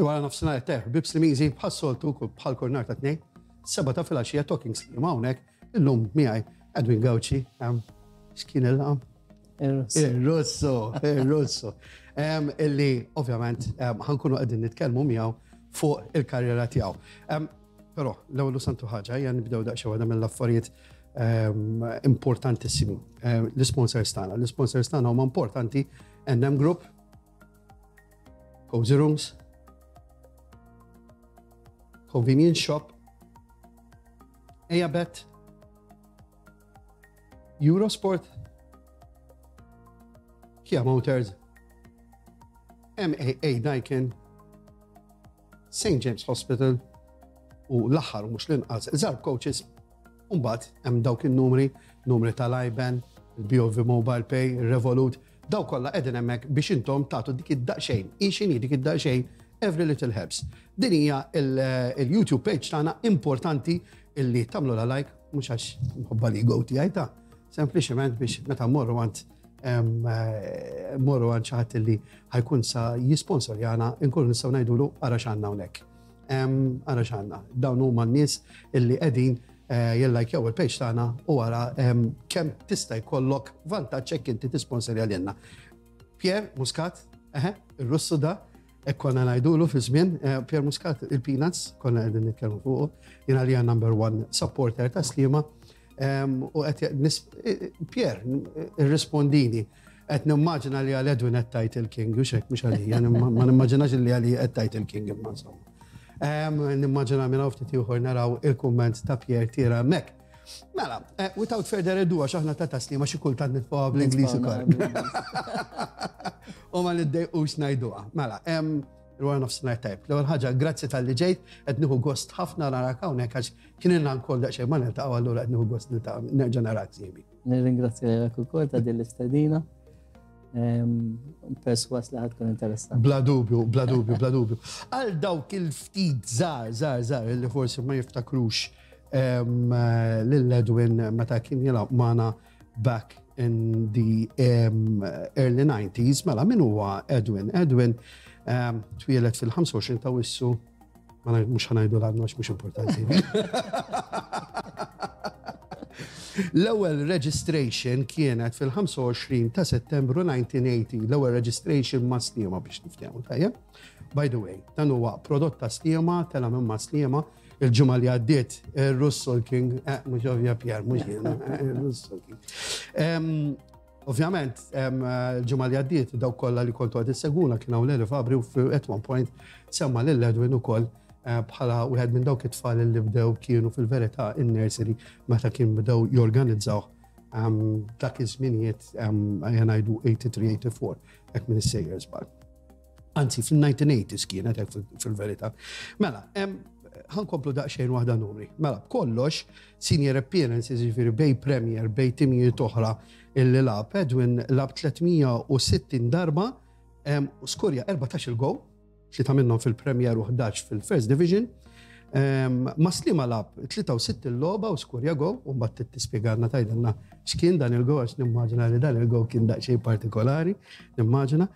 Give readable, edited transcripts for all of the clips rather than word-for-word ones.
Il-wara nofsinhar tajjeb, ħbieb Slimiżi, bħas-soltu bħal kull nhar ta' Tnejn, sebgħa ta' filgħaxija Talking Sliema hawnhekk, illum miegħi Edwin Gauci, x'kien il-laqam? Il-Russo, il-Russo. Illi ovvjament ħankunu qegħdin nitkellmu miegħu fuq il-karriera tiegħu. Però l-ewwel santu ħaġa hija nibdew daqsxejn waħda mill-affarijiet importantissimi. L-isponsors tagħna, l-isponsors tagħna huma importanti NM Group, Cozy Rooms, Convenience Shop, Ejabet, Eurosport, Kia Motors, MAA Daikin, St. James Hospital u l-aħħar u mhux l-inqas Zarb Coaches. Umbagħad hemm dawk in-numri, numri tal-IBAN, il-BOV Mobile Pay, il-Revolut, daw kollha qegħdin hemmhekk biex intom tagħtu dik id-daqsxejn, hi x'inhi dik id-daqsxejn, every little helps. Din hija il-YouTube page tagħna importanti illi tagħmlu la like mhux għax nħobba l-ego tiegħi ta' sempliċement biex meta mmorru għand eh, morru għand xi ħadd illi ħajkun sa jisponsorjana nkunu nistgħu ngħidulu ara x'għandna hawnhekk. Ara x'għandna. Dawn huma n-nies illi qegħdin eh, jillajkjaw il-page tagħna u ara kemm tista' jkollok vantaġġ hekk inti tisponsorja lilna. Pierre Muscat, eħe, il-Russu da, hekk konna ngħidulu fi żmien, eh, Pierre Muscat il-Peanuts, konna qegħdin nitkellmu fuqu, jiena li number one supporter ta' Sliema, U qed Pier, irrispondini, qed nimmaġina li għal Edwin qed tajt il-King, u xek mhux għalija, ma nimmaġinax li għalija qed tajt il-King imma insomma. Nimmaġina minn hawn ftit ieħor naraw il-kumment ta' Pier tira hemmhekk. Mela, eh, without further ado, għax aħna ta' taslima xi kultant nitfgħuha bl-Ingliż ukoll. U ma niddejqux ngħiduha. Mela, Il-wara nofsinhar tajb. L-ewwel ħaġa, grazzi talli ġejt, qed nieħu gost ħafna narak hawnhekk għax kien ilna nkoll daqsxejn ma niltaqgħu allura qed nieħu gost niltaqgħu nerġa' narak sieħbi. Nirringrazzja lilek ukoll ta' din l-istedina. Perswas li ħad tkun interessanti. Bla dubju, bla dubju, bla dubju. Għal dawk il-ftit żgħar, żgħar, żgħar li forsi ma jiftakrux lil Edwin meta kien jilgħab magħna back in the um, early 90s, mela min huwa Edwin? Edwin um, twieled fil-25 ta' wissu, ma mhux ħanajdu l-għadna mhux importanti. L-ewwel registration kienet fil-25 ta' Settembru 1980, l-ewwel registration ma' Sliema biex niftehmu, tajjeb? By the way, dan huwa prodott ta' Sliema, tela minn ma' Sliema, Il-ġimgħa li għaddiet, Russell King, eh, mhux ovvja Pier, mhux jiena, eh, Russell King. Ovvjament, il-ġimgħa li għaddiet, dawk kollha li kontu għad isseguna kien hawn Leli Fabri u at one point semma lil Edwin ukoll eh, bħala wieħed minn dawk it-tfal li bdew kienu fil-verità in-nursery meta kien bdew jorganizzaw dak iż-żminijiet ngħidu 83-84 hekk minn is-sejjer żball. Anzi, fil-1980s kienet hekk fil-verità. Mela, ħankomplu daqsxejn waħda numri. Mela, b'kollox, senior appearances, ġifieri bej Premier, bej timijiet oħra illi lab, Edwin lab 360 darba, u skurja 14 il-gow, tlieta minnhom fil-Premier u 11 fil-First Division. Ma Sliema lab 63 il-logħba u skurja gow, u mbagħad tispjegalna tgħidilna x'kien dan il-gow għax nimmaġina li dan il-gow kien daqsxejn partikolari, nimmaġina.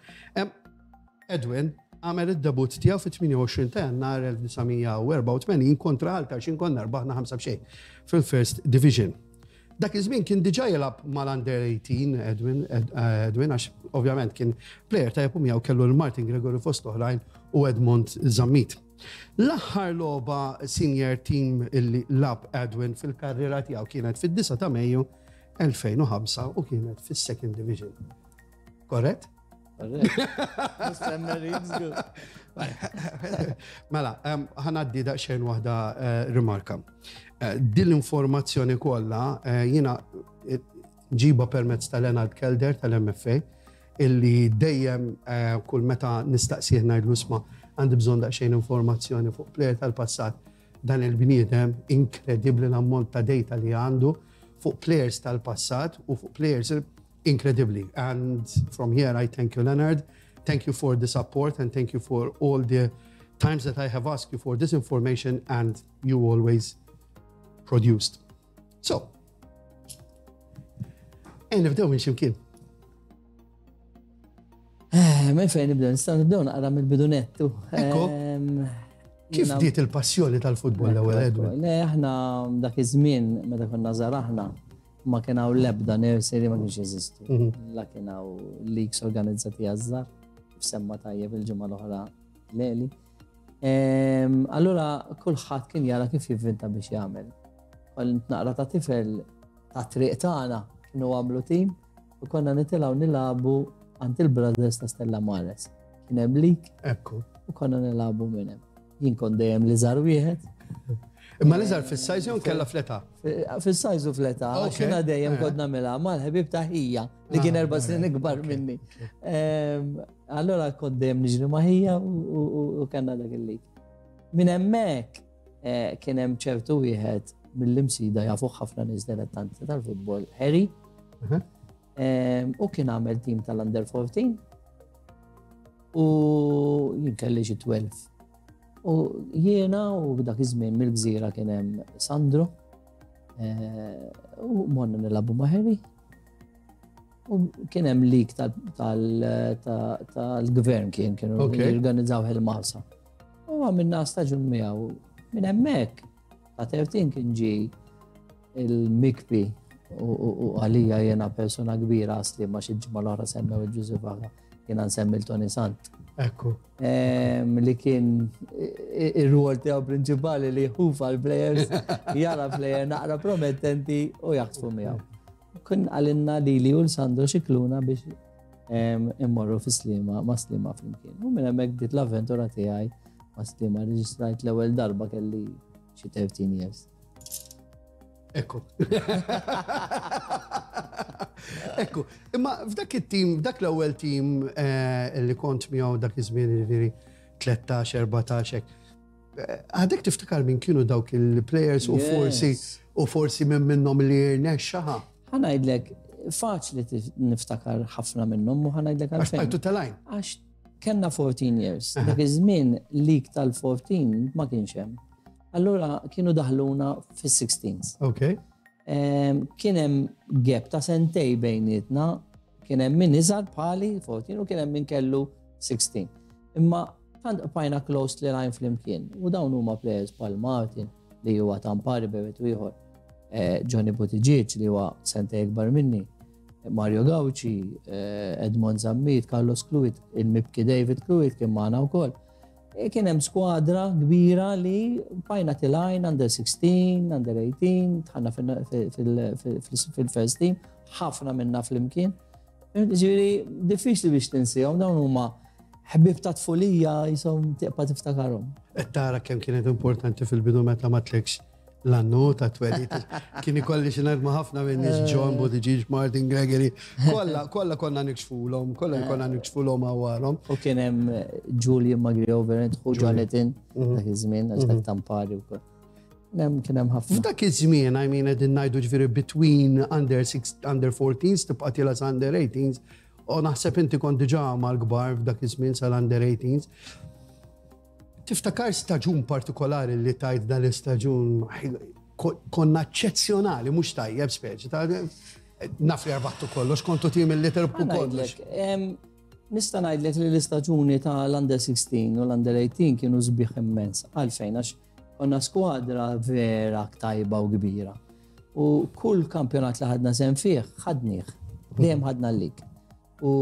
Edwin għamel id-debut tiegħu fit-28 ta' Jannar 1984 kontra Ħal Tarxien konna rbaħna 5 b'xejn fil-First Division. Dak iż-żmien kien diġà jilgħab mal-Under 18 Edwin, eh, Edwin għax ovvjament kien plejer tajjeb u miegħu kellu l-Martin Gregory fost oħrajn u Edmond Zammit. L-aħħar logħba senior team illi lab Edwin fil-karriera tiegħu kienet fid-9 ta' Mejju 2005 u kienet fis-Second Division. Korrett? Mela, ħanaddi daqsxejn waħda eh, rimarka. Eh, din l-informazzjoni kollha eh, jiena ġiba permezz ta' Leonard Kelder tal-MFA illi dejjem kull meta nistaqsih ngħidlu isma' għandi bżonn daqsxejn informazzjoni fuq plejer tal-passat dan il-bniedem inkredibbli l-ammont ta' data li għandu fuq players tal-passat u fuq players Incredibly. And from here, I thank you, Leonard. Thank you for the support and thank you for all the times that I have asked you for this information and you always produced. So, e nibdew minn ximkien. Eh, Eh, minn fejn nibdew, nistgħu nibdew naqra mill-bidunettu. Ekku. Kif bdiet il-passjoni tal-futbol l-ewwel Edwin? Le, aħna dak iż-żmien meta konna żgħar aħna ma kien hawn l-ebda nursery ma kienx jeżistu. Mhm. La kien hawn leagues organizzati għaż-żgħar, semma tajjeb il-ġimgħa l-oħra leli. Allura kulħadd kien jara kif jivvinta biex jagħmel. Kont naqra ta' tifel ta' triq tagħna kienu għamlu tim u konna nitilgħu nilagħbu għand il-Brothers ta' Stella Mares. Kien hemm lik. Ekku. U konna nilagħbu minn hemm. Jien kont dejjem li żar wieħed. Imma li żar fis-sajż jew kella fl-età? Fis-sajż u fl-età, għax jiena dejjem eh. kont nagħmilha mal-ħbieb ta' ħija li kien ah, erba' snin ikbar minni. Ehm, allora kont dejjem niġri ma' ħija u kellna dak il-lik. Minn hemmhekk eh, kien hemm ċertu wieħed mill-imsida jafu ħafna nies dilettanti tal-futbol, Harry. Mhm. Ehm, u kien għamel tim tal-under 14 u jien kelli xi 12. U jiena u dak iż-żmien mill-gżira kien hemm Sandro eh, u morna nilagħbu ma' Harry. U kien hemm lik tal-gvern kien kienu jorganizzaw il-Malsa. U għamilna staġun miegħu minn hemmhekk ta' 13 kien ġi il-mikbi u għalija jena persona kbira għasli ma xi ġimgħa l-oħra semmew il-Ġużi Vaga, jena nsemmi l-Tony Sant. Ekku. Li kien ir-rwol tiegħu prinċipali li jħufa l-players, jara player naqra promettenti u jaħtfu miegħu. Kun għalinna li li u l-Sandro Xikluna biex immorru fi Slima ma' Slima flimkien. U minn hemmhekk bdiet l-avventura tiegħi ma' Slima reġistrajt l-ewwel darba kelli xi 13 years. Ekku. Ekku, imma f'dak it-tim, f'dak l-ewwel tim eh, li kont miegħu dak iż-żmien jiġifieri 13, 14 hekk. Eh, għadek tiftakar minn kienu dawk il-players u forsi u forsi minn minnhom li rnexxa ħa. Ħanajdlek, faċli niftakar ħafna minnhom u ħanajdlek għalfejn. Għax bqajtu telgħin. Għax kellna 14 years. Dak iż-żmien lik tal-14 ma kienx hemm. Allura kienu daħluna fis-16s. Ok. Kien hemm gap ta' sentej bejnietna, kien hemm min iżgħar bħali 14 u kien hemm min kellu 16. Imma tant bqajna close li lajn flimkien u dawn huma players bħal Martin li huwa tampari bejwet ieħor, eh, Johnny Buttigieg li huwa sentej ikbar minni, Mario Gauci, eh, Edmond Zammit, Carlos Cluit, il-mibki David Cluit kien magħna wkoll. E kien hemm skwadra kbira li bajna tilajn under 16, under 18, tħanna fil-first team, ħafna minna fl-imkien. Ġifieri diffiċli biex tinsihom dawn huma ħbib ta' tfulija jisom tiqpa tiftakarhom. Qed tara kemm kienet importanti fil-bidu meta ma tlekx l-annu ta' twelid. Kien ikolli xi ngħid ma' ħafna minn nies John Buttigieg, Martin Gregory, kollha kollha konna nikxfulhom, kollha konna nikxfulhom għawarhom. U kien hemm Julian Magriover, u Jonathan mhm. dak iż-żmien għax dak mhm. tampari wkoll. Hemm kien hemm ħafna. F'dak iż-żmien, I mean, qegħdin ngħidu ġifieri between under 6, under 14s tibqa' tilha under 18s, u naħseb inti kont diġà mal-kbar f'dak iż-żmien sal-under 18s. Tiftakar staġun partikolari li tajt dan l-istaġun konna eċċezzjonali, mhux tajjeb speċi ta' naf li rbattu kollox, kontu tim li terbħu kollox. Nista' ngħidlek li l-istaġuni ta' l-under 16 u l-under 18 kienu sbieħ immens. Għalfejn għax konna skwadra vera tajba u kbira. U kull kampjonat li ħadna sem fih, ħadnieh. Dejjem ħadna l-lig. U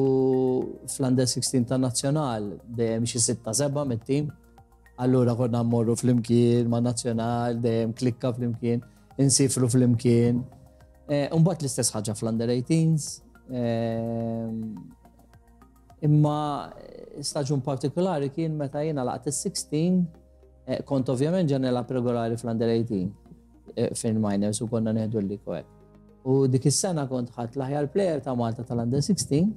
fl-under 16 ta' nazzjonal dejjem xi 6-7 mit-tim. Allura konna mmorru flimkien ma' nazzjonal, dejjem klikka flimkien, insifru flimkien. Eh, Umbagħad l-istess ħaġa fl-under 18s. Eh, imma staġun partikolari kien meta jiena laqt is-16, eh, kont ovvjament ġa nilgħab regolari fl-under 18 fil-minors u konna neħdu l-liko hekk. U dik is-sena kont ħadd l-aħjar player ta' Malta tal-Under 16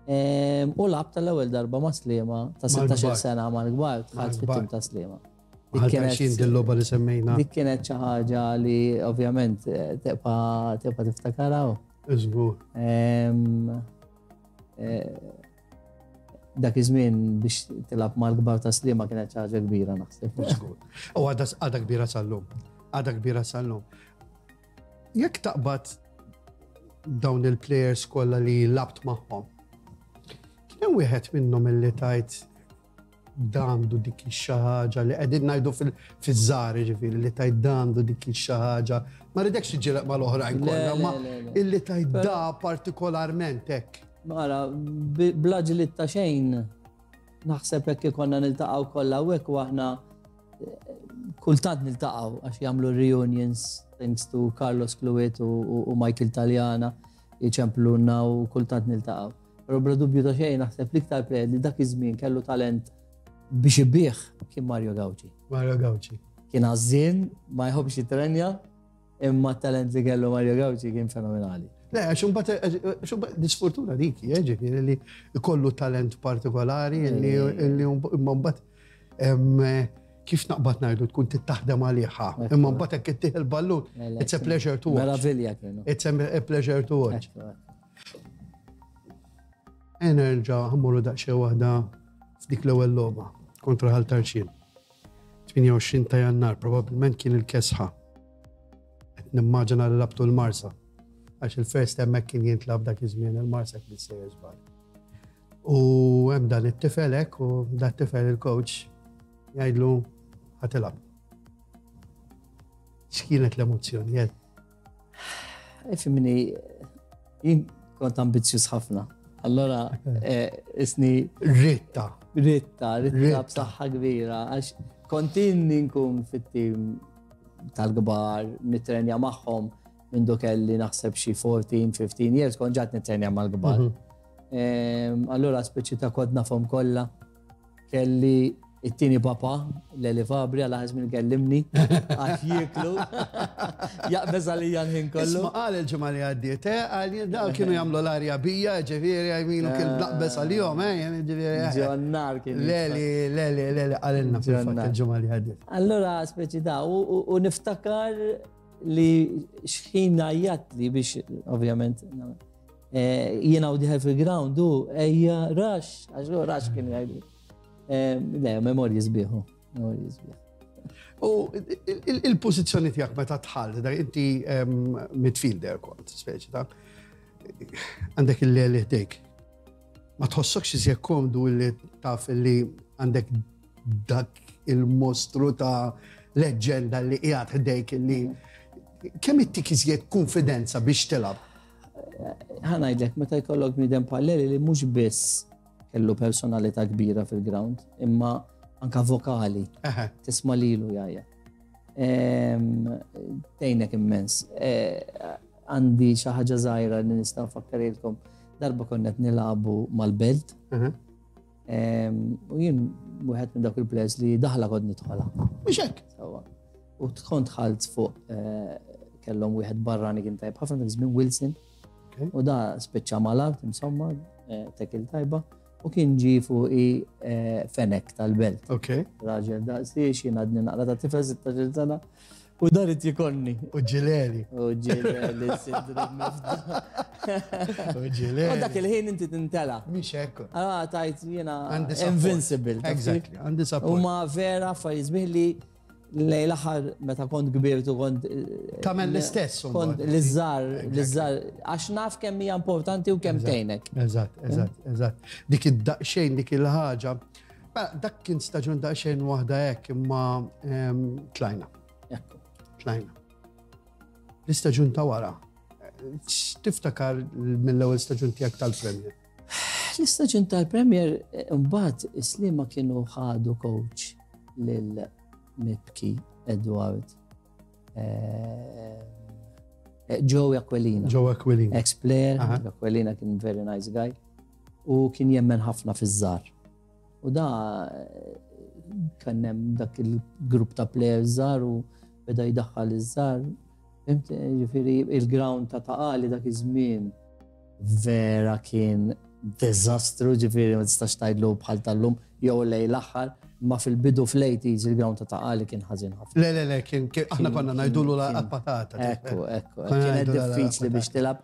u lab tal-ewwel darba ma' Sliema ta' 16 sena mal-kbar dħalt fit-tim ta' Sliema. Dik kienet il-logħba li semmejna. Dik kienet xi ħaġa li ovvjament eh, tibqa' tibqa' tiftakarha. Iżgur. Eh, dak iż-żmien biex tilgħab mal-kbar ta' Sliema kienet xi ħaġa kbira naħseb. U għadha kbira sal-lum. Għadha kbira sal-lum. Jekk taqbad dawn il-players kollha li labt magħhom, Kien hemm wieħed minnhom illi tajt dandu dik xi ħaġa li qegħdin ngħidu fiż-żgħar ġifieri li tajt dandu dik xi ħaġa. Ma ridekx tiġġielek mal-oħrajn kollha, ma illi tajt da partikolarment hekk. Mara, bla ġlied ta' xejn, naħseb hekk ikonna niltaqgħu kollha u hekk u aħna eh, kultant niltaqgħu għax jagħmlu reunions thanks to Carlos Cluet u Michael Taljana jċemplunna u kultant niltaqgħu. Però bla dubju ta' xejn naħseb l-iktar player li dak iż-żmien kellu talent biex ibih kien Mario Gauci. Mario Gauci. Kien għażżien, ma jħobbx jitrenja, imma talent li kellu Mario Gauci kien fenomenali. Le, għax imbagħad l-isfortuna dik, eh, ġifieri li jkollu talent partikolari li imma mbagħad kif naqbad ngħidu tkun tittaħdem għaliha. Imma mbagħad hekk ittieħ il-ballun, it's a pleasure to watch. Meravilja kienu. It's a pleasure to watch. Enerġa ħammuru daqsxejn waħda f'dik l-ewwel logħba kontra Ħal Tarxien. 28 ta' Jannar, probabbilment kien il-kesħa. Qed nimmaġina li labtu l-Marsa. Għax il-first hemmhekk kien jintlab dak iż-żmien il-Marsa kien sejjer żball. U hemm dan it-tifel hekk u dat tifel il-coach jgħidlu ħatilab. X'kienet l-emozzjoni? Jed? Ifimni, jien kont ambizzjuż ħafna. Allora, eh, isni. Ritta. Ritta, ritta b'saħħa kbira, għax kontinni nkun fit-tim tal-kbar, nitrenja magħhom minn do kelli naħseb xi 14, 15 years, kont ġat nitrenja mal-kbar. Mhm. Allura speċi ta' kont nafhom kollha. Kelli it-tieni papa, Leli Fabri, għal ħażmin kellimni, għax jieklu, jaqbeż għalija l-ħin kollu. Isma' qal il-ġimgħa li għaddiet, eh, qal jien dawn kienu jagħmlu l-arja bija, ġifieri għajminu kien naqbeż għalihom, eh, jien ġifieri. Eh. Ġonnar kien. Leli, Leli, Leli qalilna fil-fatt il-ġimgħa li għaddiet. Allura speċi ta' u niftakar li xħin għajjat li biex, ovvjament, eh, jiena u diħel fil-ground u ejja rax, għax rax kien jgħidu. Eh, le, memorji sbieħu, memorji sbieħ. U il-pozizjoni tiegħek meta tħall, da inti midfielder kont, speċi ta' għandek il-leli ħdejk. Ma tħossokx iżjed komdu li taf li għandek dak il-mostru ta' leġġenda li qiegħed ħdejk li kemm ittik iżjed konfidenza biex tilgħab? Ħanajdlek, meta jkollok bniedem bħal li mhux biss Kellu personalità kbira fil-ground, imma anka vokali. Tisma' lilu jgħajja. Tgħinek immens. E, għandi xi ħaġa żgħira li nista' nfakkarilkom. Darba konna qed nilagħbu mal-belt. U jien wieħed minn dawk il-players li daħla kont nidħolha. Mhux hekk. U tkun dħalt fuq eh, kellhom wieħed barrani kien tajb ħafna dak żmien Wilson. U da spiċċa mal-art, insomma, eh, tekil tajba, u kien ġi fuqi eh, fenek tal-belt. Raġel daqsiex, jien għadni naqra ta' tifel 16 sena, u dan it jikonni. U ġileri. U ġileri, sidru mifda. U ġileri. U dak il-ħin inti tintela. Mhix hekk. Ah, tajt jiena invincible. Exactly, għandi support. U ma vera affarijiet sbieħ li Lej l-aħħar meta kont kbirt u kont. Eh, Tagħmel l-istess. Kont l-iżżar, l-iżżar, għax naf kemm hija importanti u kemm tgħinek. Eżatt, eżatt, eżatt. Dik id-daqsxejn, dik il-ħaġa. Mela, dak kien staġun daqsxejn waħda hekk imma ehm, tlajna. Tlajna. L-istaġun ta' wara. Tiftakar mill-ewwel staġun tiegħek tal-Premier? L-istaġun tal-Premier eh, mbagħad is-Sliema kienu ħadu coach lil Mibki Edward eh, eh, Joe Aquilina. Joe Aquilina. Ex-player, Aquilina kien very nice guy. U kien jemmen ħafna fiż-żar. U da kien hemm dak il-grupp ta' players żgħar u beda jdaħħal iż-żgħar. Ġifieri il-ground ta' taqali dak iż-żmien vera kien diżastru, ġifieri ma tistax tgħidlu bħal tal-lum jew lej l-aħħar, ma fil-bidu fl-80s il-ground ta' taqali kien ħażin ħafna. Le, le, le, kien aħna konna ngħidulu la patata. Ekku, ekku, kienet diffiċli biex tilab.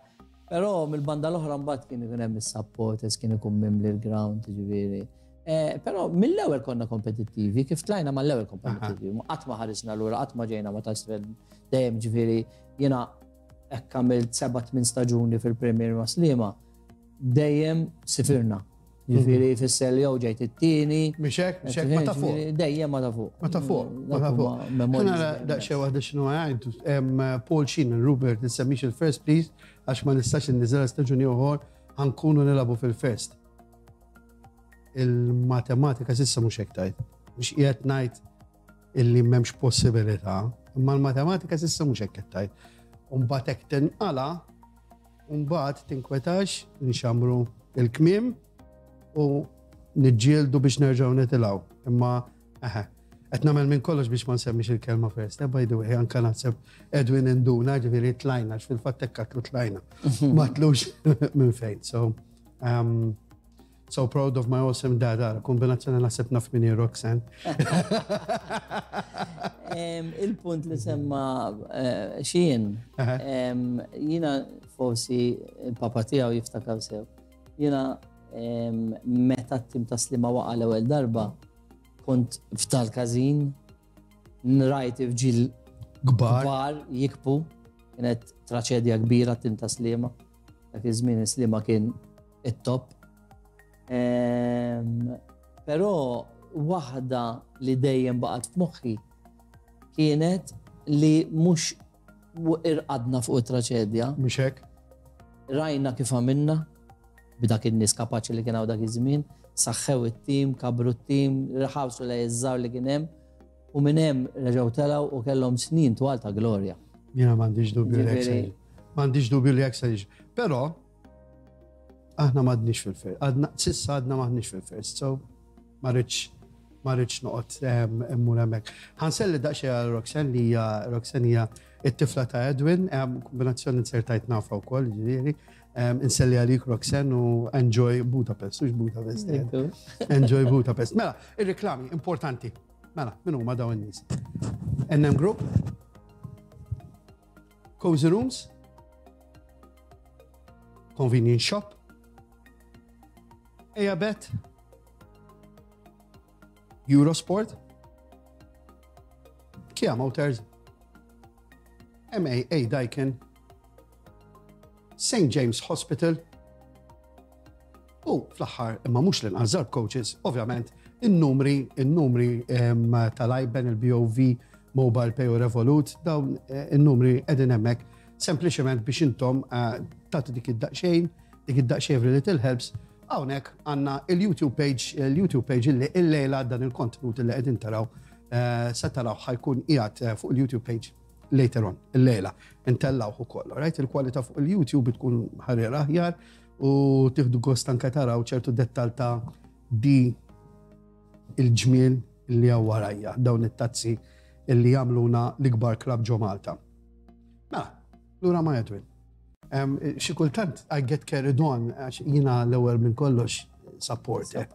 Però mill-banda l-oħra mbagħad kien ikun hemm is-supporters, kien ikun mimli l-ground, ġifieri. Eh, però mill-ewwel konna kompetittivi, kif tlajna mal-ewwel kompetittivi, qatt ma ħarisna lura, qatt ma ġejna ma tasfel dejjem ġifieri jiena hekk għamilt seba' tmien staġuni fil-Premier ma' Sliema, dejjem sifirna. Ġifieri jfisser li jew ġejt it-tieni. Mhux hekk, mhux hekk, ma ta' fuq. Dejjem ma ta' fuq. Ma ta' fuq, ma ta' fuq. Nara daqsxejn waħda x'inhu għajdu. Paul Sheen, Rupert, nissemmix il-first please, għax ma nistax inniżel staġuni oħor ħankunu nilagħbu fil-first. Il-matematika s'issa mhux hekk tgħid. Mhux qiegħed ngħid illi m'hemmx possibilità, imma l-matematika s'issa mhux hekk qed tgħid. U mbagħad hekk tinqala' U mbagħad tinkwetax, nxammru il-kmiem u niġġieldu biex nerġgħu nitilgħu. Imma eħe, qed nagħmel minn kollox biex ma nsemmix il-kelma first. Eh, by the way, anka naħseb Edwin induna, ġifieri tlajna, fil-fatt hekk għatlu tlajna. Ma tlux minn fejn. So, um, So proud of my awesome dad, ara, kombinazzjoni naħseb naf minni Roxanne. Il-punt li semma eh, xien, jina forsi il-papa tiegħu jiftakar sew. Jina meta t-tim ta' Slima waqa l-ewwel darba, kont f'tal każin, nrajt irġiel kbar jikbu, kienet traċedja kbira t-tim ta' Slima. Dak iż-żmien Slima kien it-top. Ehm, però waħda li dejjem baqgħet f'moħħi kienet li mhux irqadna fuq it-traċedja. Mhux hekk? Rajna kif għamilna b'dak in-nies kapaċi li kien hawn dak iż-żmien, saħħew it-tim, kabru t-tim, ħawsu lej iż-żgħar li kien hemm u minn hemm reġgħu telgħu u kellhom snin twal ta' glorja. Jiena m'għandix dubju li hekk. M'għandix dubju li hekk se jiġri. Però Aħna m'għadniex fil-first, għadna, sissa għadna m'aħniex fil-first, so ma rridx ma rridx noqgħod ehm, immur hemmhekk. Ħanselli daqsxejn għal Roxanne li hija Roxanne hija it-tifla ta' Edwin, ehm, kombinazzjoni nsertajt nafa wkoll, ġifieri. Ehm, inselli għalik Roxanne u enjoy Budapest, mhux Budapest. Eh. Enjoy Budapest. Mela, ir-reklami importanti. Mela, min huma dawn in-nies? NM Group, Cozy Rooms, Convenience Shop, Ejabet, Eurosport, Kia Motors, MAA Daikin, St. James Hospital, u fl-aħħar imma mhux l-inqas Zarb Coaches, ovvjament in-numri, in-numri tal-IBAN, il-BOV, Mobile Pay u Revolut, dawn eh, in-numri qegħdin hemmhekk sempliċement biex intom eh, tagħtu dik id-daqsxejn, dik id-daqsxejn li Little Helps, hawnhekk għandna il-YouTube page, il-YouTube page illi illejla dan il-kontenut illi qegħdin taraw eh, se taraw ħajkun qiegħed fuq il-YouTube page later on, illejla, intellawh ukoll, right? Il-kwalità fuq il-YouTube tkun ħarir aħjar u tieħdu gost anke taraw ċertu dettal ta' di il-ġmiel li hawn warajja, dawn it-tazzi illi jagħmluna l-ikbar klabb ġo Malta. Mela, lura ma' Edwin. Xi kultant I get carried on għax jiena l-ewwel minn kollox support. Eh.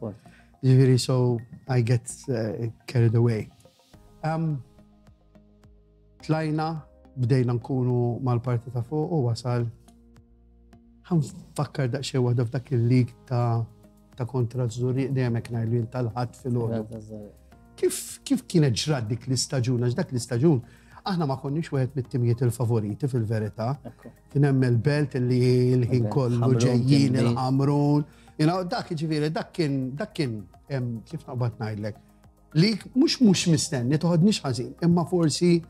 Ġifieri so I get eh, carried away. Um, Tlajna, bdejna nkunu mal-parti ta' fuq u wasal ħanfakkar daqsxejn waħda f'dak il-lig ta' ta' kontra Żurrieq dejjem hekk ngħidlu jien tal-ħadd filgħodu. Kif kif kienet ġrat dik l-istaġun għax dak l-istaġun aħna ma konniex wieħed mit-timijiet il-favoriti fil-verità. Kien hemm il-belt li l-ħin kollu ġejjin il-Ħamrun. You know, dak ġifieri dak kien dak kien kif naqbad ngħidlek Li mhux mhux mistenni, toħodniex ħażin, imma forsi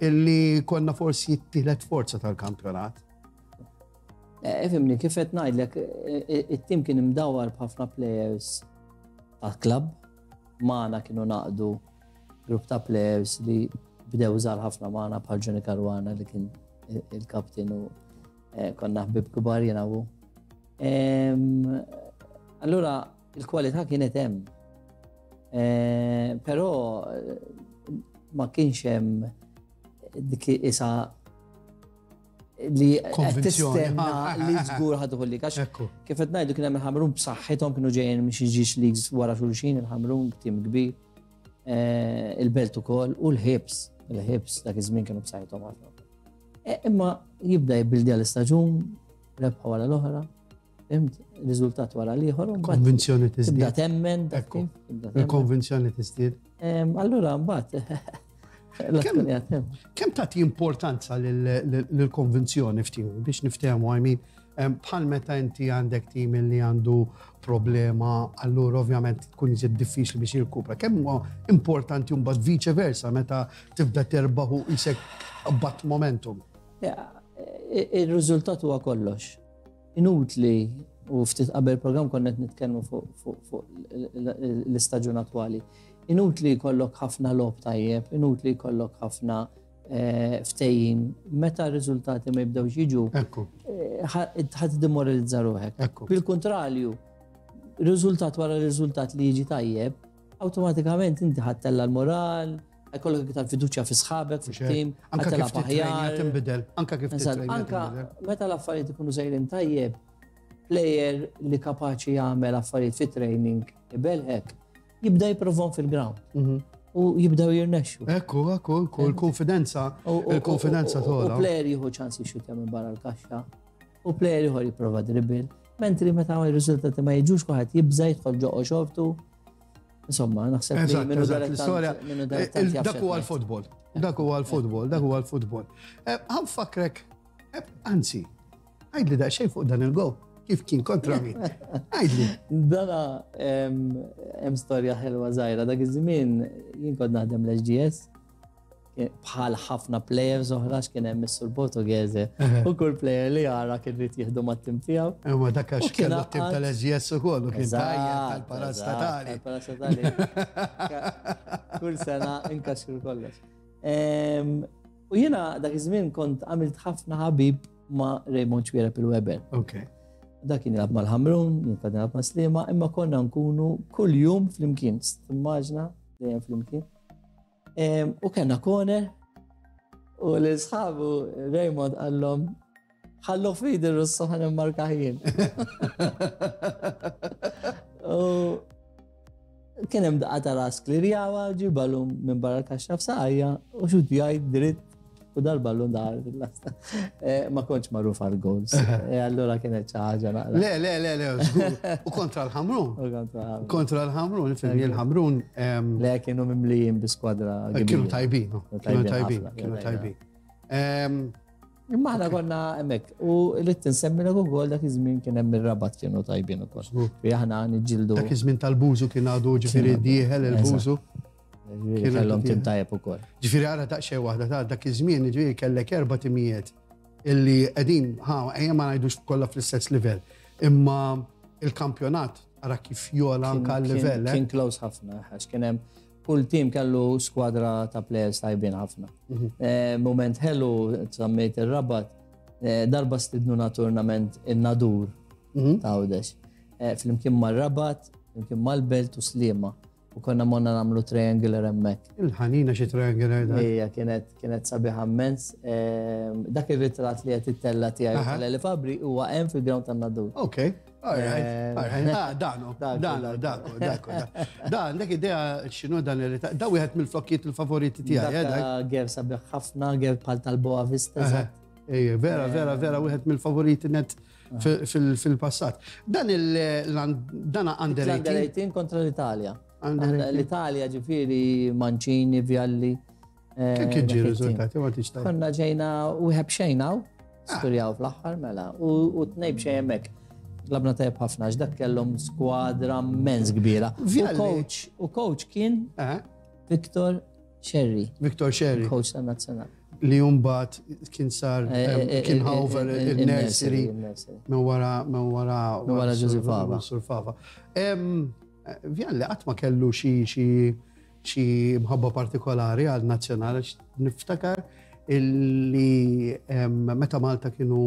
illi konna forsi t-tielet forza tal-kampjonat. Eh, ifimni, kif qed ngħidlek, eh, eh, it-tim kien imdawar b'ħafna players ta' klabb, magħna kienu naqdu grupp ta' players li bdew żgħar ħafna magħna bħal Johnny Caruana li kien il-kaptin u konna ħbib kbar jiena u. Allura il-kwalità kienet hemm. Eh, però eh, ma kienx hemm dik isa li tistenna li żgur ħadu li għax kif qed ngħidu kien hemm il-Ħamrun b'saħħithom kienu ġejjin minn xi ġiex leagues wara xulxin il-Ħamrun tim kbir eh, il-Belt ukoll u l-Ħibs il-Ħibs dak iż-żmien kienu b'saħħithom ħafna. Imma jibda jibbildi għall-istaġun rebħa wara l-oħra. Fimt, riżultat wara l-ieħor. Konvinzjoni tiżdied. Tibda temmen. Ekku. Il-konvinzjoni tiżdied. Allura mbagħad. Kemm tagħti importanza lill-konvinzjoni ftit biex niftehmu I mean, Bħal meta inti għandek tim li għandu problema, allura ovvjament tkun iżjed diffiċli biex jirkupra. Kemm huwa importanti mbagħad vice versa meta tibda terbaħ u isek bat momentum? Ir-riżultat huwa kollox. Inutli u ftit qabel program konna qed nitkellmu fuq l-istaġun attwali. Inutli jkollok ħafna logħob tajjeb, inutli jkollok ħafna eh, ftehim, meta r-riżultati ma jibdewx jiġu, eh, ħadd demoralizza ruħek. Bil-kontrarju, riżultat wara riżultat li jiġi tajjeb, awtomatikament inti ħadd tella l-moral, jkollok iktar fiduċja fi sħabek, fit-tim, anka kif aħjar. Tinbidel, anka kif Anka meta l-affarijiet ikunu sejrin tajjeb, player li kapaċi jagħmel affarijiet fit training ibelħek, jibda jipprovhom fil-ground. Mhm. U jibdew jirnexxu. Ekku, ekku, ekku, il-konfidenza, il-konfidenza tola. U player jieħu ċans jixxutja minn barra l-kaxxa, u player ieħor jipprova dribble, mentri meta r-riżultati ma jiġux kulħadd jibża jidħol ġo xortu. Insomma, naħseb li minnu l-istorja. Dak huwa l-futbol. Dak huwa l-futbol, dak huwa l-futbol. Eh, Għan fakrek, eh, anzi, Għidli daqsxejn fuq dan il-gow. Kif kien kontra min? Għidli. Dana hemm storja ħelwa żgħira dak iż-żmien jien kont naħdem l-SGS bħal ħafna players oħra x'kien hemm is-Sur Portughese u kull player li jara kien rid jieħdu mat-tim tiegħu. Imma dak għax kellu t-tim tal-SGS ukoll u kien tajjeb tal-parastatali. Tal-parastatali. Kull sena inkaxxu kollox. U jiena dak iż-żmien kont għamilt ħafna ħabib ma' Raymond Xuereb il-Weber. Ok. Dak kien jilgħab mal-Ħamrun, jien kont nilgħab ma' Sliema, imma konna nkunu kuljum flimkien, timmaġna dejjem flimkien. U kellna corner u l-sħabu Raymond qallhom ħallu fidi r-Russu ħan immarka jien. U Kien hemm daqqa ta' ras klirjawa, ġi ballun minn barra l-kaxxa f'saqajja u xut jgħid dritt u dal-ballun daħal fil-lasta. Eh, ma kontx magħruf għal goals. Eh, allura kienet xi ħaġa naqra. Le, le, le, le, żgur. U kontra l-Ħamrun. U kontra l-Ħamrun. Kontra l-Ħamrun, ifhem il-Ħamrun. Le kienu mimlijin bi skwadra. Eh, kienu tajbin, kienu tajbin, kienu tajbin. Imma aħna konna hemmhekk u li tinsemmilek ukoll dak iż-żmien kien hemm ir-Rabat kienu tajbin ukoll. Fi aħna niġġieldu. Dak iż-żmien tal-Bużu kien għadu ġifieri dieħel il-Bużu. Kienu kellhom tim tajjeb ukoll. Ġifieri ara daqsxejn waħda ta' dak iż-żmien ġifieri kellek erba' timijiet illi qegħdin ħa ejja ma ngħidux kollha fl-istess livell. Imma il-kampjonat ara kif jola anka l-livell. Eh? Kien close ħafna, għax kien hemm Kull tim kellu skwadra ta' players tajbin ħafna. Mhm. Eh, moment ħelu, sammejt ir-Rabat, eh, darba stidnuna tournament in-Nadur mhm. ta' Għawdex. Eh, flimkien mar-Rabat, flimkien mal-Belt u Sliema. U konna monna namlu triangular hemmhekk. Il-ħanina xi triangular dak. Ija, kienet kienet sabiħa immens. Dak ir-ritratt li qed ittella tiegħi tal-Eli Fabri huwa hemm fil-ground tan-Nadur. Okay. Alright, alright. Ah, danu, danu, danu, danu. Dan, dak idea xinu dan il Da wieħed mill-flokkiet il-favoriti tiegħi. Eh, ger sabiħ ħafna, ger bħal tal-Boa Vista. Ej, vera, vera, vera, wieħed mill-favoriti net fil-passat. Dan il-dana under 18. 18 kontra l-Italja. L-Italja ġifieri Mancini, Vialli. Eh, Kif kien ġie riżultati ma tix Konna ġejna u bxejn hawn, ah. skurjaw fl-aħħar mela, u tnej bxejn hemmhekk. Labna tajb ħafna għax dak kellhom skwadra mens kbira. U coach, u coach kien eh? Victor Sherry. Victor Sherry. Coach tan-nazzjonal. Li jumbat kien sar eh, kien over il-nursery minn wara minn wara minn wara Joseph Fava. Sur Fava. Vjalli qatt ma kellu xi xi xi mħabba partikolari għal nazzjonali niftakar illi meta Malta kienu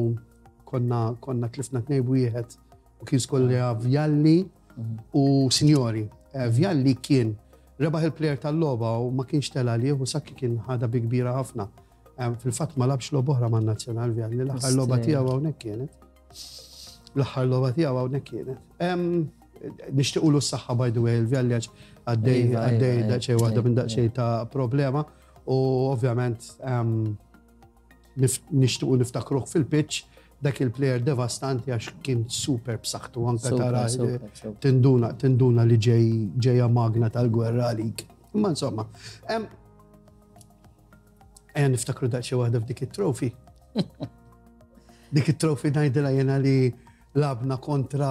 konna konna tlifna tnej wieħed u kien skolja Vjalli mhm. u Sinjori. Eh, Vjalli kien rebaħ il-plejer tal-logħba u ma kienx tela lih u Sakki kien ħada bi kbira ħafna. Fil-fatt ma labx logħba oħra man-nazzjonal Vjalli, l-aħħar logħba tiegħu hawnhekk kienet. L-aħħar logħba tiegħu hawnhekk kienet. Nixtiequlu s-saħħa by the way il-Vjalli għax għaddej iva, għaddej iva, daqsxejn waħda minn daqsxejn ta' problema u ovvjament nixtiequ niftakruh fil-pitch dak il-player devastanti għax kien super b'saħħtu anke tara tinduna tinduna li ġej ġejja magna tal-gwerra għalik. Imma insomma, ejja niftakru daqsxejn waħda f'dik it-trophy. Dik it-trofi ngħidilha jiena li labna kontra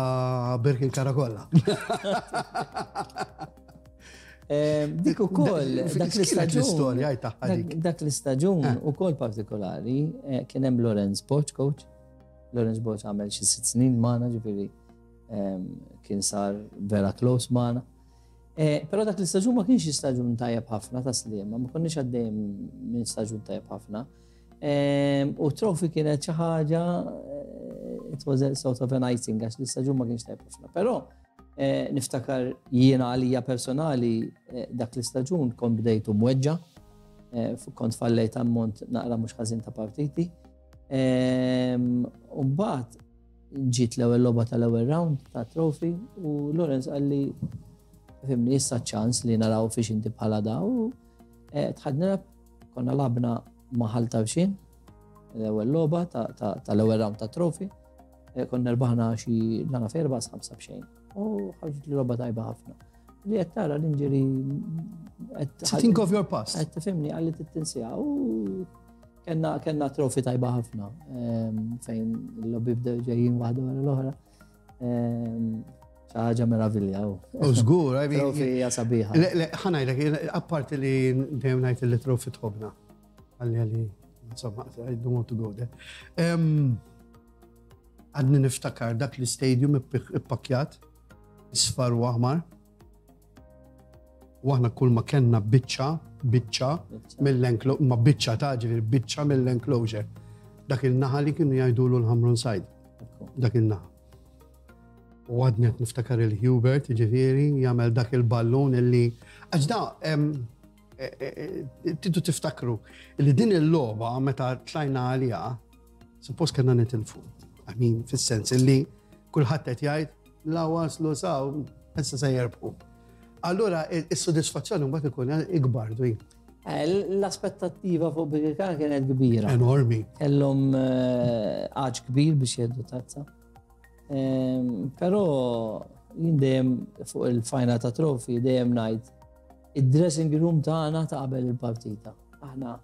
Birkirkara kollha. Dik ukoll, dak l-istaġun. L-istorja tagħha dik. Dak l-istaġun eh. ukoll partikolari eh, kien hemm Lorenz Boċ coach. Lorenz Boċ għamel xi sitt snin magħna ġifieri kien sar vera close magħna. Eh, però dak l-istaġun ma kienx istaġun tajjeb ħafna ta' Sliema, ma konniex għaddejjem minn staġun tajjeb ħafna. U trofi kienet xi ħaġa eh, it was a sort of an icing għax l-istaġun ma kienx tajjeb ħafna. Però eh, niftakar jiena għalija personali dak l-istaġun kont bdejtu mweġġa, kont fallejt ammont naqra mhux ħażin ta' partiti. U mbagħad Ġiet l-ewwel logħba tal-ewwel round ta' trophy u Lorenz qalli fimni issa ċans li naraw fiex inti bħala da u eh, tħad nilab konna labna ma' Ħal Tarxien l-ewwel logħba tal-ewwel round ta' trophy eh, konna rbaħna xi nana ferba ħamsa b'xejn u ħarġet li logħba tajba ħafna. Li qed tara l-injury Think of your past. Qed tifhimni qalli tittinsija u Kenna kenna trofi tajba ħafna ehm, fejn il-lobby bdew ġejjin waħda wara l-oħra. Ehm, xi ħaġa meravilja. U żgur, I mean. Trofi hija sabiħa. Le, le, ħanajlek, apparti li dejjem ngħid li trofi tħobna. Għalli għalli, insomma, I don't want to go there. Ehm, għadni niftakar dak l-istadium ippakjat, isfar u aħmar. U aħna kull ma kellna biċċa, biċċa mill-enclosure, ma biċċa ta' ġifieri biċċa mill-enclosure. Dak il-naħa li kienu jgħidulu l-Ħamrun Side. Dak il-naħa. U għadni qed niftakar il-Hubert, ġifieri, jagħmel dak il-ballun illi għax da e, e, e, tidu tiftakru li din il-logħba meta tlajna għaliha Suppost kellna nitilfu. I mean, fis-sens illi kulħadd qed jgħid la waslu saw, issa se jerbħu. Allura is-sodisfazzjoni mbagħad ikun ikbar dwi. Eh, l-aspettattiva fuq Birkirkara kienet kbira. Enormi. Kellhom eh, għaġ kbir biex jeddu tazza. Ehm, però jien dejjem fuq il-final ta' trofi dejjem ngħid id-dressing room tagħna ta' qabel il-partita. Aħna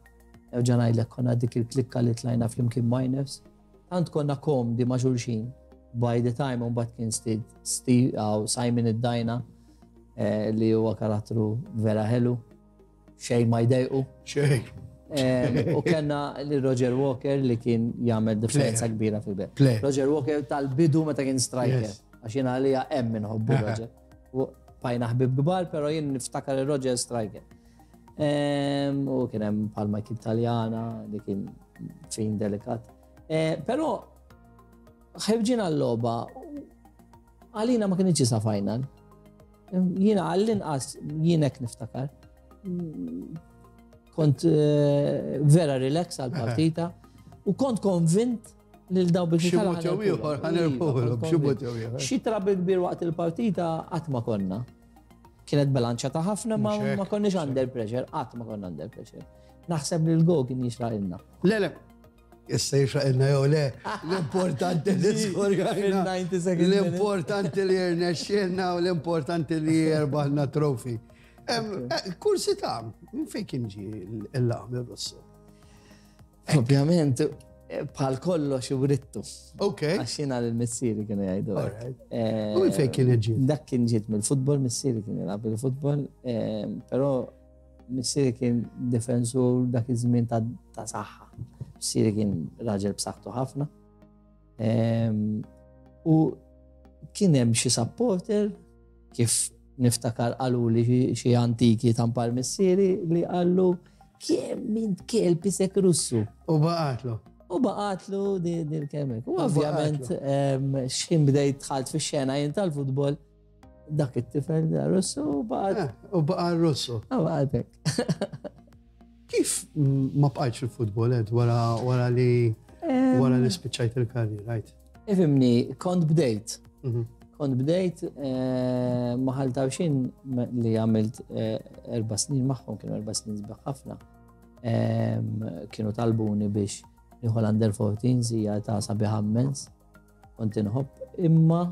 Nerġa' ngħidlek konna dik il-klikka li tlajna flimkien minors. Tant konna komdi ma' xulxin. By the time mbagħad kien Steve Simon id-Dajna eh, li huwa karattru vera ħelu. Xejn ma jdejqu. Xejn. Eh, u kellna li Roger Walker li kien jagħmel differenza kbira fil-bel. Roger Walker tal-bidu meta kien striker. Għax jiena għalija hemm inħobbu Roger. Bajna ħbib kbar, però jien niftakar il-Roger striker. U kien hemm bħal Michael Taljana li kien fin delikat. E, però ħebġina l-logħba għalina ma kienx sa final. Jiena għall-inqas jien hekk niftakar. Kont e, vera relax għal-partita u kont konvint lil daw biex Xi mod jew ieħor ħanerfuhom, xi mod jew ieħor. Xi trabi kbir waqt il-partita qatt ma konna. Kienet bilanċata ħafna ma ma konniex under pressure, qatt ma konna under pressure. Naħseb li l-go kien jixraq ilna. Le, le, issa jixraq ilna jew le, l-importanti li skorjajna. L-importanti li rnexxielna u l-importanti li erbaħna trofi. Eh, kursità, minn fejn kien ġi l-laqam ir-Russu? Ovvjament, bħal kollox urittu. Ok. Għax jiena l-missieri kienu jgħidu. Eh, U fejn kien ġiet? Dak kien ġiet mill-futbol, missieri kien jilgħab il-futbol, eh, però missieri kien difensur dak iż-żmien ta' saħħa. Missieri kien raġel b'saħħtu ħafna. Ehm, u kien hemm xi supporter kif niftakar qaluli xi antiki tampar missieri li qallu kemm int kelb isek Russu. U baqatlu. U baqatlu dil-kelma. U ovvjament x'ħin bdejt dħalt fix-xena jien tal-futbol dak it-tifel Russu u baqat. Eh, u baqa Russu. U baqatek. Kif ma bqajtx fil-futbol ed wara wara li wara li spiċċajt il-karriera, right? Ifimni, kont bdejt. Mhm. Kont bdejt eh, maħal tawxin li għamilt eh, erba snin magħhom, kienu erba snin sbaħ ħafna. Kienu talbuni biex nieħu l-under 14 hija ta' sabiħ immens. Kont inħobb, imma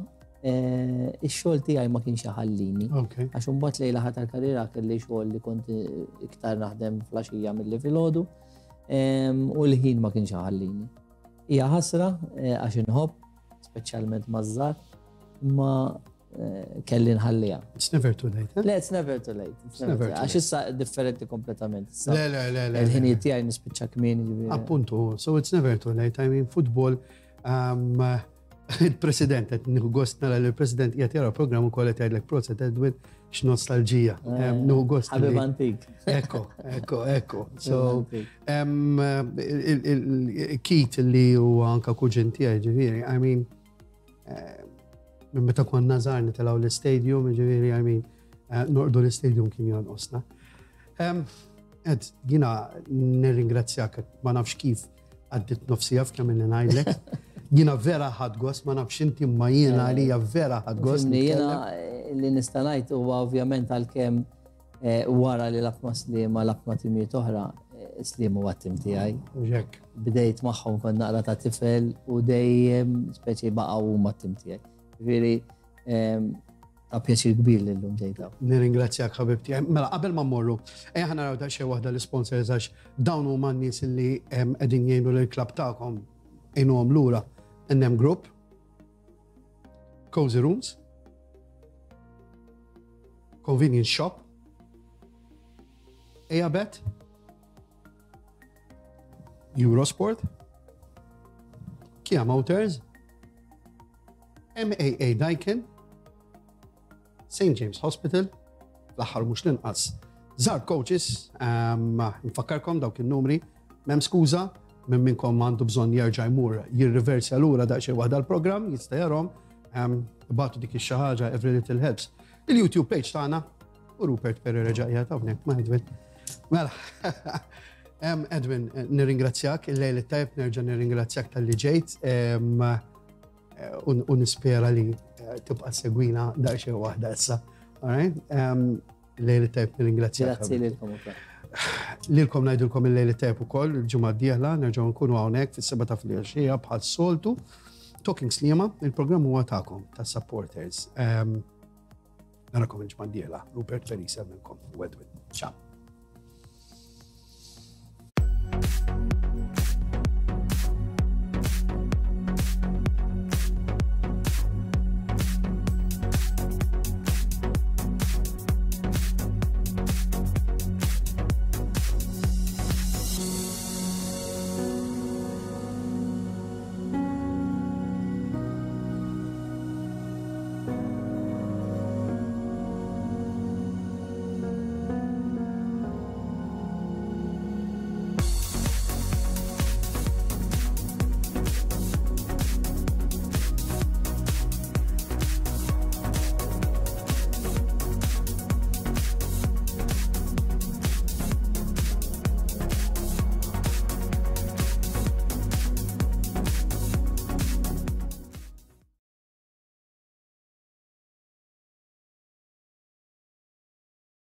eh, ix-xogħol tiegħi ma kienx iħallini. Għax imbagħad lejla ħadd tal-karriera kelli xogħol li kont iktar naħdem flaxija milli filgħodu u l-ħin ma kienx iħallini. Hija ħasra eh, għax inħobb, speċjalment maż-żgħar, imma eh, kelli nħalliha. It's never too late. Eh? Le, it's never too late. It's never too late. Għax issa differenti kompletament. Le, le, le, le. Il-ħinijiet tiegħi nispiċċa kmieni. Appuntu, so it's never too late. I mean, football, um, il-president, qed nieħu gost nara li l-president qiegħed jara programm ukoll qed jgħidlek proset Edwin x'nostalġija. Eh, nieħu gost. Ħabib antik. Ekko, ekko, ekko. So, il-kit li huwa anka kuġin tiegħi ġifieri, I mean, eh, minn meta konna żgħar nitilgħu l-istadium, ġifieri, I mean, eh, norqdu l-istadium kien jonqosna. Ed, jina nirringrazzjak, ma nafx kif Għaddit nofsija f'kemm inni ngħidlek. Jiena vera ħadd gost, ma nafx inti ma jiena eh, għalija vera ħadd gost. Jiena eh, li nista' ngħid huwa ovvjament għalkemm eh, wara li lab ma' Sliema lab ma' timijiet oħra, Sliema huwa tim tiegħi. Ġek. Bdejt magħhom kont naqra ta' tifel u dejjem speċi baqgħu huma tim tiegħi. Ġifieri Ta' pjaċir kbir li llum ġejt hawn. Nirringrazzjak ħabib tiegħi. Mela qabel ma mmorru, ejja ħa naraw daqsxejn waħda l-isponsors għax dawn huma n-nies li qegħdin jgħinu lill-klabb tagħkom għinuhom lura. NM Group, Cozy Rooms, Convenience Shop, Ejabet, Eurosport, Kia Motors, MAA Daikin, St. James Hospital, l-aħħar mhux l-inqas. Zar Coaches, ehm, nfakkarkom dawk in-numri, m'hemm skuża, minn minnkom għandu bżonn jerġa' jmur jirriversja lura daqsxejn waħda l-programm, jista' jarhom, ehm, batu dik ix ħaġa every little helps. Il-YouTube page tagħna u Rupert Perry reġa' qiegħed hawnhekk ma' Edwin. Mela, ehm, Edwin, nirringrazzjak il-lejl it-tajb nerġa' nirringrazzjak tal-li ġejt. U nispera li eh, tibqa' segwina daqsxejn waħda issa. Alright? Lejli tajb nirringrazzjak. Grazzi lilkom ukoll. Lilkom ngħidulkom il-lejli tajb ukoll il-ġimgħa d-dieħla nerġgħu nkunu hawnhekk fis-seba' ta' filgħaxija bħal soltu. Talking Sliema, il-programm huwa tagħkom tas-supporters. Narakom il-ġimgħa d-dieħla. Rupert Perry semmilkom u Edwin. Ciao.